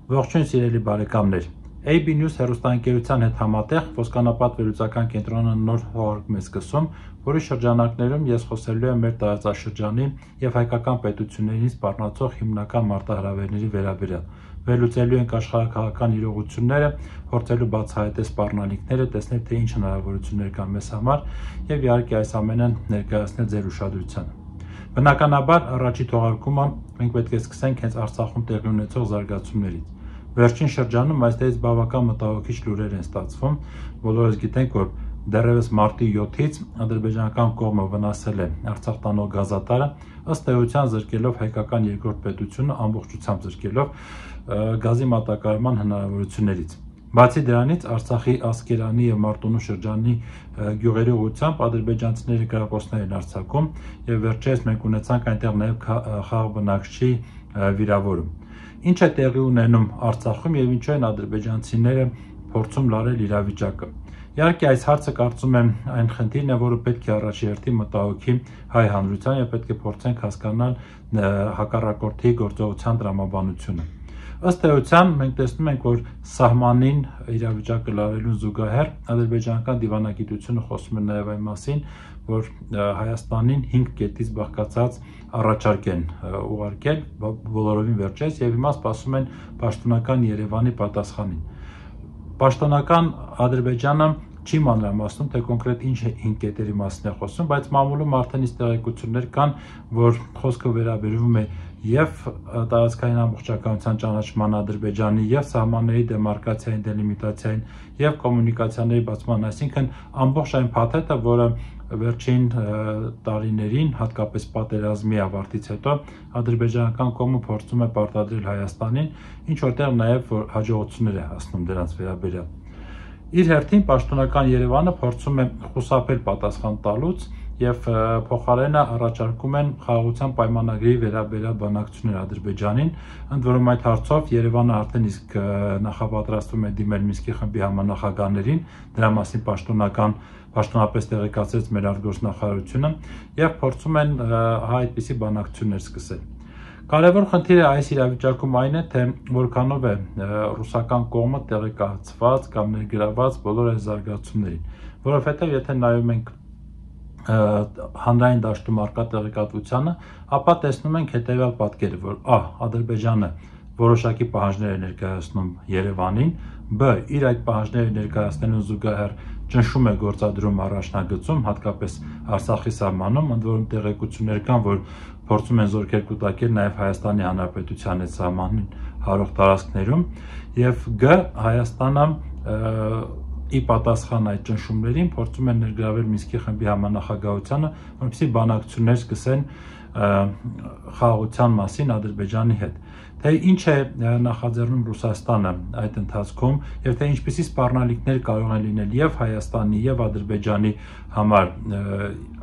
Ողջույն սիրելի բարեկամներ, AB News հեռուստաընկերության հետ համատեղ Ոսկանապատ վերլուծական կենտրոնը նոր թողարկում է սկսում, որի շրջանակներում ես խոսելու եմ մեր տարածաշրջանի և հայկական պետություններին սպառնացող հիմնական մարտահրավերների վերաբերյալ։ Վերլուծելու ենք աշխարհաքաղաքական իրողությունները, փորձելու բացահայտել սպառնալիքները, տեսնել թե ինչ հնարավորություններ կան մեզ համար և իհարկե այս ամենը ներկայացնել ձեր ուշադրությանը։ Բնականաբար առաջի թողարկումը մենք պետք է սկսենք հենց Արցախում տեղի ունեցող զարգացումներից։ Վերջին շրջանում այստեղից բավական մտահոգիչ լուրեր են ստացվում, բոլորս գիտենք, որ դեռևս մարտի 7-ից ադրբեջանական կողմը վնասել է Արցախ տանող գազատարը, ըստ էության զրկելով հայկական երկրորդ պետությունը ամբողջությամբ զրկելով գազի մատակարարման հնարավորություններից։ Բացի դրանից Արցախի Ասկերանի և Մարտունու շրջանի գյուղերի ուղղությամբ ադրբեջանցիների կրակոցներ են արձակում և վերջերս մենք ունեցանք այնտեղ նաև խաղաղ բնակչի վիրավորում։ Ինչ է տեղի ունենում Արցախում և ինչու են ադրբեջանցիները փորձում լարել իրավիճակը։ Իհարկե այս հարցը կարծում եմ այն խնդիրն է, որը պետք է առաջերտի մտահոգի հայ հանրության և պետք է փորձենք հասկանալ հակառակորդի գործողության տրամաբանությունը։ Ըստ էության մենք տեսնում ենք, որ սահմանին իրավիճակը լարելուն զուգահեռ ադրբեջանական դիվանագիտությունը խոսում է նաև այն մասին, որ Հայաստանին 5 կետից բաղկացած առաջարկ են ուղարկել բոլորովին վերջերս և հիմա սպասում են պաշտոնական Երևանի պատասխանին։ Պաշտոնական Ադրբեջանը չի մանրամասնում, թե կոնկրետ ինչ 5 կետերի մասին է խոսում, բայց մամուլում արդեն իսկ տեղեկություններ կան, որ խոսքը վերաբերվում է և տարածքային ամբողջականության ճանաչման Ադրբեջանի և սահմանների դեմարկացիային, դելիմիտացիային և կոմունիկացիաների բացման, այսինքն ամբողջ այն փաթեթը, որը վերջին տարիներին, հատկապես պատերազմի ավարտից հետո ադրբեջանական կողմը փորձում է պարտադրել Հայաստանին, ինչ որտեղ նաև հաջողություններ է հասնում դրանց վերաբերյալ։ Իր հերթին պաշտոնական Երևանը փորձում է խուսափել պատասխան տալուց և փոխարենը առաջարկում են խաղաղության պայմանագրի վերաբերյալ բանակցություններ Ադրբեջանին, ընդ որում այդ հարցով Երևանը արդեն իսկ նախապատրաստվում է դիմել Մինսկի խմբի համանախագահներին, դրա մասին պաշտոնապես տեղեկացրեց մեր արտգործնախարարությունը և փորձում են այդպիսի բանակցություններ սկսել։ Կարևոր խնդիրը այս իրավիճակում այն է, թե որքանով է ռուսական կողմը տեղեկացված կամ ներգրավված բոլոր այս զարգացումներին, որովհետև եթե նայում ենք հանրային դաշտում առկա տեղեկատվությանը, ապա տեսնում ենք հետևյալ պատկերը, որ Ադրբեջանը որոշակի պահանջներ է ներկայացնում Երևանին, բ. իր այդ պահանջները ներկայացնելուն զուգահեռ ճնշում է գործադրում առաջնագծում, հատկապես Արցախի սահմանում, ընդ որում տեղեկություններ կան, որ փորձում են զորքեր կուտակել նաև Հայաստանի Հանրապետության հետ սահմանին հարող տարածքներում, և գ. Հայաստանը ի պատասխան այդ ճնշումներին փորձում են ներգրավել Մինսկի խմբի համանախագահությանը, որպեսզի բանակցություններ սկսեն խաղաղության մասին Ադրբեջանի հետ։ Թե ինչ է նախաձեռնում Ռուսաստանը այդ ընթացքում և թե ինչպիսի սպառնալիքներ կարող են լինել և Հայաստանի և Ադրբեջանի համար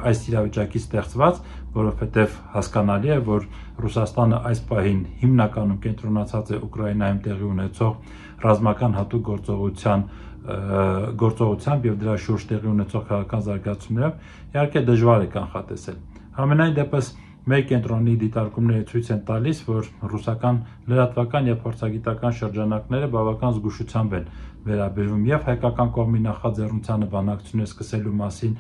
այս իրավիճակից ստեղծված, որովհետև հասկանալի է, որ Ռուսաստանը այս պահին հիմնականում կենտրոնացած է Ուկրաինայում տեղի ունեցող ռազմական հատուկ գործողությամբ և դրա շուրջ տեղի ունեցող քաղաքական զարգացումներով, իհարկե դժվար է կանխատեսել։ Համենայն դեպս մեր կենտրոնի դիտարկումները ցույց են տալիս, որ ռուսական լրատվական և փորձագիտական շրջանակները բավական զգուշությամբ են վերաբերվում և հայկական կողմի նախաձեռնությանը բանակցություններ սկսելու մասին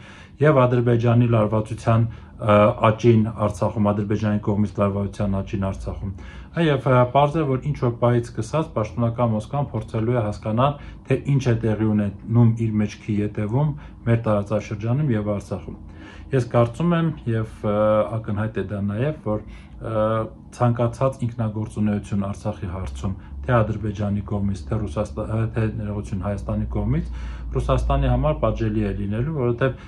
և Ադրբեջանի լարվածության աճին Արցախում, Ադրբեջանի կողմից լարվածության աճին Արցախում։ Եվ պարզ է, որ ինչ որ պահից սկսած պաշտոնական Մոսկվան փորձելու է հասկանալ, թե ինչ է տեղի ունենում իր մեջքի ետևում մեր տարածաշրջանում և Արցախում։ Ես կարծում եմ և ակնհայտ է դա նաև, որ ցանկացած ինքնագործունեություն Արցախի հարցում, թե Ադրբեջանի կողմից, թե Հայաստանի կողմից, Ռուսաստանի համար պատժելի է լինելու, որովհետև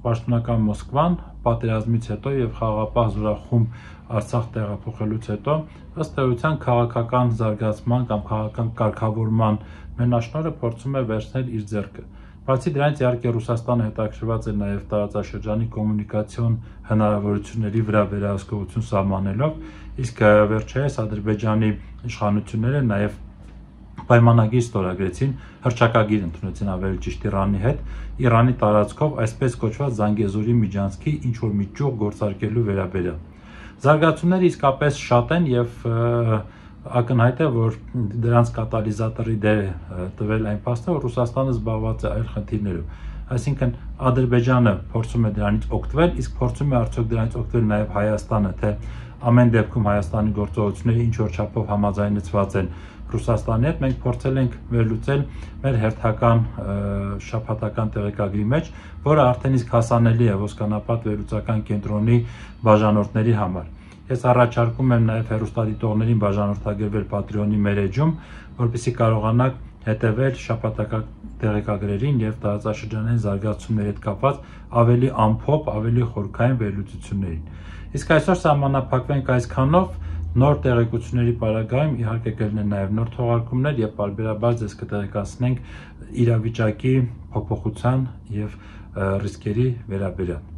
պաշտոնական Մոսկվան պատերազմից հետո և խաղաղապահ զորախումբ Արցախ տեղափոխելուց հետո ըստ էության քաղաքական զարգացման կամ քաղաքական կարգավորման մենաշնորհը փորձում է վերցնել իր ձեռքը։ Բացի դրանից, իհարկե Ռուսաստանը հետաքրքրված է նաև տարածաշրջանի կոմունիկացիոն հնարավորությունների վրա վերահսկողություն սահմանելով, իսկ վերջերս Ադրբեջանի իշխանությունները նաև պայմանագիր ստորագրեցին, հռչակագիր ընդունեցին ավելի ճիշտ Իրանի տարածքով այսպես կոչված Զանգեզուրի միջանցքի ինչ-որ մի ճյուղ գործարկելու վերաբերյալ։ Զարգացումները իսկապես շատ են և ակնհայտ է, որ դրանց կատալիզատորի դեր տվել այն փաստը, որ Ռուսաստանը զբաղված է այլ խնդիրներով, այսինքն Ադրբեջանը փորձում է դրանից օգտվել, իսկ փորձում է արդյոք դրանից օգտվել նաև Հայաստանը, թե ամեն դեպքում Հայաստանի գործողությունները ինչ որ չափով համաձայնեցված են Ռուսաստանի հետ, մենք փորձել ենք վերլուծել մեր հերթական շաբաթական տեղեկագրի մեջ, որը արդեն իսկ հասանելի է Ոսկանապատ վերլուծական կենտրոնի բաժանորդների համար։ Ես առաջարկում եմ նաև հեռուստադիտողներին բաժանորդագրվել Patreon-ի մեր էջում, որպեսզի կարողանաք հետևել շաբաթական տեղեկագրերին եւ տարածաշրջանային զարգացումների հետ կապված ավելի ամփոփ, ավելի խորքային վերլուծություններին։ Իսկ այսօր սահմանափակվենք այսքանով, նոր տեղեկությունների պարագայում իհարկե կլինեն նաև նոր թողարկումներ եւ պարբերաբար ձեզ կտեղեկացնենք իրավիճակի փոփոխության եւ ռիսկերի վերաբերյալ։